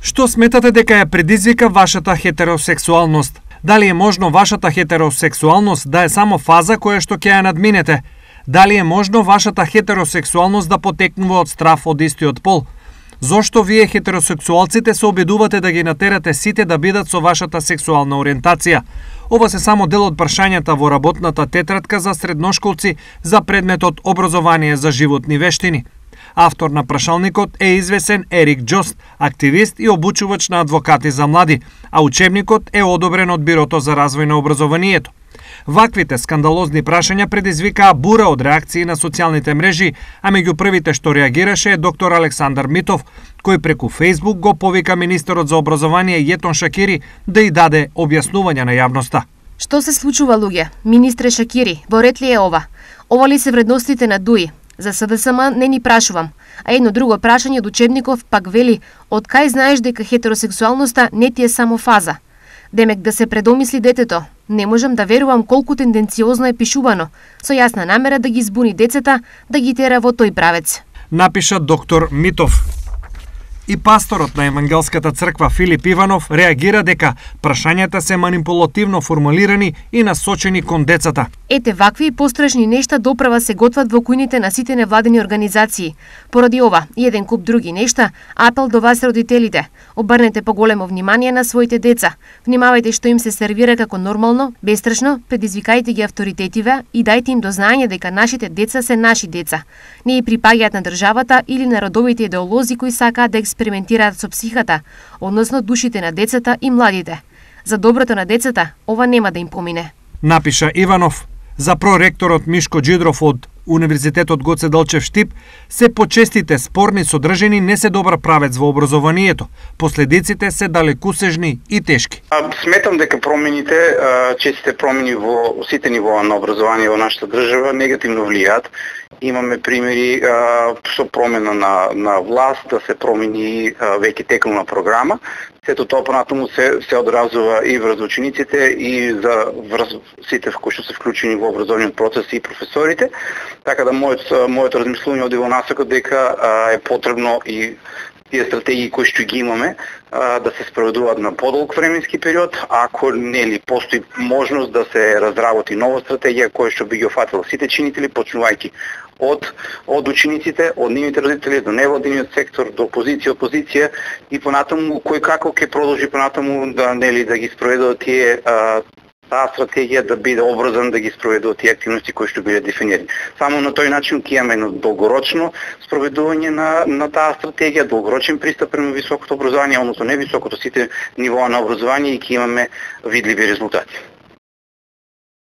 Што сметате дека ја предизвика вашата хетеросексуалност? Дали е можно вашата хетеросексуалност да е само фаза која што ќе ја надминете? Дали е можно вашата хетеросексуалност да потекнува од страф од истиот пол? Зошто вие хетеросексуалците се обидувате да ги натерате сите да бидат со вашата сексуална ориентација? Ова се само дел од прашањата во работната тетрадка за средношколци за предметот образование за животни вештини. Автор на прашалникот е извесен Ерик Джост, активист и обучувач на адвокати за млади, а учебникот е одобрен од Бирото за развој на образованието. Ваквите скандалозни прашања предизвикаа бура од реакции на социјалните мрежи, а меѓу првите што реагираше е доктор Александар Митов, кој преку Фејсбук го повика министерот за образование Јетон Шакири да и даде објаснување на јавноста. Што се случува, луѓе? Министре Шакири, во ред ли е ова? Ова ли се вредностите на ДУИ? За СДСМ не ни прашувам. А едно друго прашање од учебников пак вели: од кај знаеш дека хетеросексуалноста не ти е само фаза? Демек да се предомисли детето. Не можам да верувам колку тенденциозно е пишувано, со јасна намера да ги збуни децата, да ги тера во тој правец. Напиша доктор Митов. И пасторот на Евангелската црква Филип Иванов реагира дека прашањата се манипулативно формулирани и насочени кон децата. Ете, вакви и пострашни нешта доправа се готват во кујните на сите невладени организации. Поради ова и еден куп други нешта, апел до вас родителите: обрнете поголемо внимание на своите деца. Внимавајте што им се сервира како нормално, бестрашно, предизвикајте ги авторитетиве и дајте им до знаење дека нашите деца се наши деца. Не и припаѓаат на државата или на родовите идеолози кои сакаат да експериментираат со психата, односно душите на децата и младите. За доброто на децата, ова нема да им помине. Напиша Иванов. За проректорот Мишко Џидров од Универзитетот Гоце Делчев Штип, се почестите спорни содржини не се добар правец во образованието. Последиците се далекусежни и тешки. Сметам дека промените, честите промени во сите нивоа на образование во нашата држава негативно влијаат. Имаме примери со промена на власт, да се промени веќе текнувна програма. Сето тоа понатаму се одразува и врз учениците и за сите кои што се вклучени во образовниот процес и професорите. Така да моето размислување оди во насока дека е потребно и тие стратегии кои што ги имаме да се спроведуваат на подолг временски период, ако нели постои можност да се разработи нова стратегија која што би ги офатила сите чинители, почнувајќи од учениците, од нивните родители до невладиниот сектор, до опозиција и понатаму кој како ќе продолжи понатаму да да ги спроведува тие таа стратегија, да биде обврзан да ги спроведува тие активности кои што биле дефинирани. Само на тој начин ќе имаме едно долгорочно спроведување на таа стратегија, долгорочен пристап према високото образование, односно не високото, сите нивоа на образование, и ќе имаме видливи резултати.